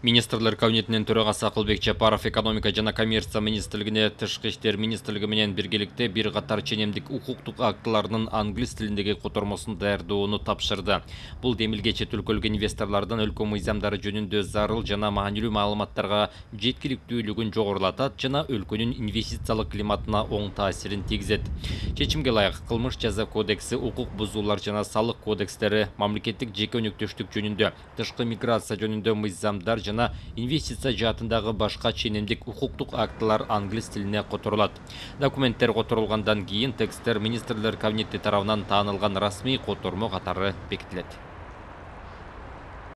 Министрлер кабинетинин төрагасы Акылбек Жапаров экономика жана коммерция министрлигине тышкы иштер министрлиги менен биргеликте бир катар ченемдик укуктук актыларынын англис тилиндеги котормосун даярдоону тапшырды. Бул демилге чет өлкөлүк инвесторлордун өлкө мыйзамдары жөнүндө зарыл жана маанилүү маалыматтарга жеткиликтүүлүгүн жогорулатат жана өлкөнүн инвестициялык климатына оң таасирин тийгизет. Чечимге ылайык кылмыш жаза кодекси, укук бузуулар жана салык кодекстери, мамлекеттик жеке өнөктөштүк жөнүндө, тышкы миграция жөнүндө мыйзамдар жана инвестиция жаатындагы башка ченемдик укуктук актылар англис тилине которулат. Документтер которулгандан кийин тексттер министрлер кабинети тарабынан таанылган расмий котормо катары бекитилет.